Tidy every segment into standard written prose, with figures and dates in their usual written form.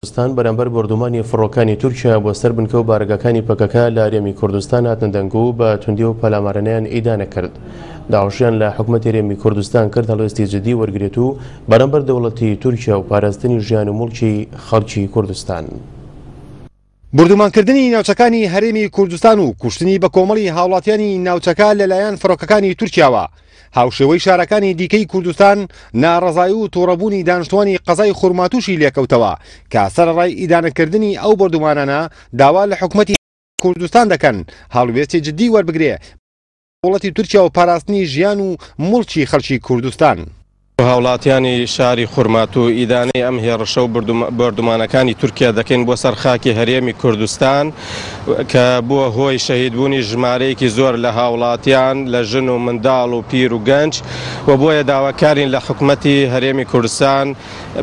کوردستان بەرامبەر بۆردومانی فڕۆکانی تورکیا بۆ سەر بنکە و بارەگاکانی پەکەکە لە هەرێمی کوردستان هاتنە دەنگ و بە توندی و پەلامارانەیان ئیدانە کرد. داواشیان لە حکومەتی هەرێمی کوردستان کرد هەڵوێستی جدی وەرگرێت و بەرامبەر دەوڵەتی تورکیا و پاراستنی ژیان و موڵکی خەڵکی کوردستان. بوردومانکردنی ناوچەکانی هەرێمی کوردستان و کوشتنی بەکۆمەڵی هاوڵاتیانی ناوچەکە لەلایەن فڕۆکەکانی تورکیاوە هاوشێوەی شارەکانی دیکەی کوردستان ناڕەزایی و توڕەبوونی دانیشتوانی قەزای خورماتووشی لێکەوتەوە کە سەرەڕای ئیدانەکردنی ئەو بۆردومانانە داوا لە حکومەتی کوردستان دەکەن هەڵوێستی جدی وەربگرێ دەوڵەتی تورکیا و پاراستنی ژیان و موڵکی خەڵکی کوردستان. هاوڵاتیانی شاری خورماتوو ئیدانەی ئەم هێڕشە و بۆردومانەکانی تورکیا دەکەین بۆ سەر خاکی هەرێمی کوردستان کە بووە هۆی شەهیدبوونی ژمارەیەکی زۆر لە هاوڵاتیان لە ژن و منداڵ و پیر و گەنج و بۆیە داواکارین لە حکومەتی هەرێمی کوردستان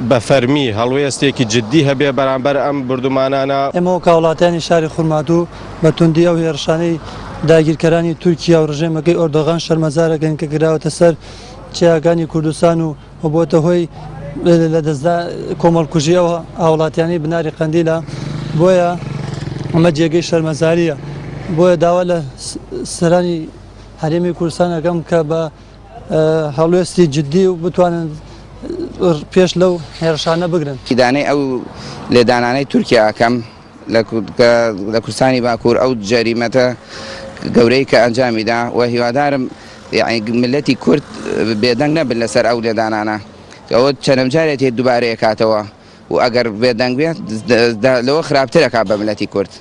بە فەرمی هەڵوێستێکی جدی هەبێ بەرامبەر ئەم بوردومانانە. ئێمە وەک هاوڵاتیانی شاری خورماتوو بە توندی ئەو هێڕشانەی داگیرکەرانی تورکیا و ڕژێمەکەی ئۆردۆغان شەرمەزار ئەکەین کە کراوەتە سەر چیاکانی کوردستان و بۆتە هۆی لەدەستدا کۆمەڵکوژی ئەو هاوڵاتیانەی بناری قەندیلە، بۆیە ئەمە جێگەی شەرمەزارییە، بۆیە داوا لە سەرانی هەرێمی کوردستان ئەکەم کە بە هەڵوێستی جدی و بتوانن پێش لەو هێرشانە بگرن. ئیدانەی ئەو لێدانانەی تورکیا ئەکەم لە کوردستانی باکوور، ئەو جەریمەتە گەورەی کە ئەنجامی دا و هیوادارم یەعنی میللەتی کورد بێدەنگ نەبن لەسەر ئەو لێدانانە، ئەوە چەنەم جارێتی دووبارەیە کاتەوە و ئەگەر بێدەنگ بێت لەوە خراپتر ئەکات بە میللەتی کورد.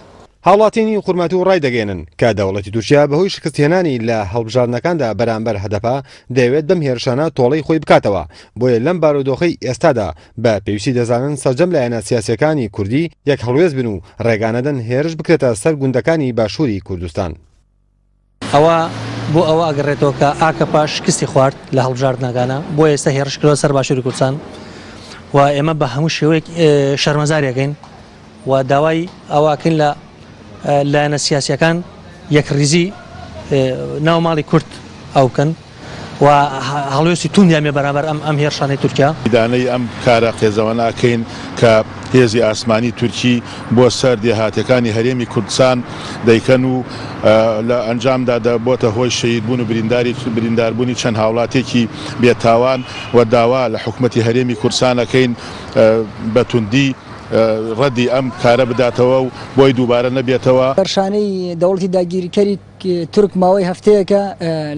هاوڵاتیانی خورماتوو ڕایدەگەیەنن کە دەوڵەتی تورکیا بەهۆی شکستهێنانی لە هەڵبژاردنەکاندا بەرامبەر هەدەپە دەیەوێت بەم هێرشانە تۆڵەی خۆی بکاتەوە، بۆیە لەم بارودۆخەی ئێستادا بە پێویستی دەزانن سەرجەم لایەنە سیاسییەکانی کوردی یەک هەڵوێست بن و ڕێگانەدەن هێرش بکرێتە سەر گوندەکانی باشووری کوردستان. ئەوە بۆ ئەوە ئەگەڕێتەوە کە ئاکەپە شکستی خوارد لە هەڵبژاردنەکانە، بۆیە ئێستا هێڕش کردوە سەر باشووری کوردستان و ئێمە بە هەموو شێوەیەک شەرمەزاری ئەکەین و داوای ئەوە ئەکەین لە لایەنە سیاسیەکان یەکڕیزی ناو ماڵی کورد ئەو بکەن. و هەڵوێستی توندیان بێ بەرامبەر ئەم ئەم هێرشانەی تورکیا. ئیدانەی ئەم کارە قێزەوەنە ئەکەین کە هێزی ئاسمانی تورکی بۆ سەر دێهاتەکانی هەرێمی کوردسان دەیکەن و لە ئەنجامدا دەبۆتە هۆی شەهیدبوون و برینداری برینداربوونی چەند هاوڵاتیەکی بێتاوان و داوا لە حکومەتی هەرێمی کوردسان ئەکەین بە توندی ڕەدی ئەم کارە بداتەوە و بۆی دووبارە نەبێتەوە. هێرشانەی دەوڵەتی داگیرکەری تورک ماوەی هەفتەیەکە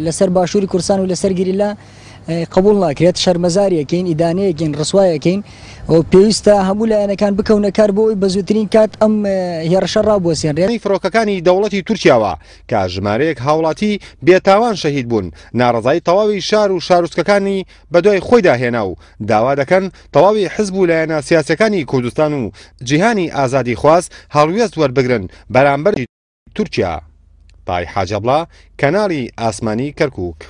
لەسەر باشووری کوردستان و لەسەر گریلا قبول ناکرێت، شەرمەزاریەکەین، ئیدانەیەکەین، ڕسوایەکەین و پێویستە هەموو لایەنەکان بکەونە کار بۆ ئەوەی بە زووترین کات ئەم هێڕشە ڕابوەسێنرێت. فڕۆکەکانی دەوڵەتی تورکیاوە کە ژمارەیەک هاوڵاتی بێتاوان شەهید بوون، ناڕەزایی تەواوی شار و شارۆچکەکانی بەدوای خۆیدا هێنا و داوا دەکەن تەواوی حزب و لایەنە سیاسیەکانی کوردستان و جیهانی ئازادیخواز هەڵوێست وەربگرن بەرامبەر تورکیا. تای حاجی عەبڵا، کەناڵی ئاسمانی کەرکوک.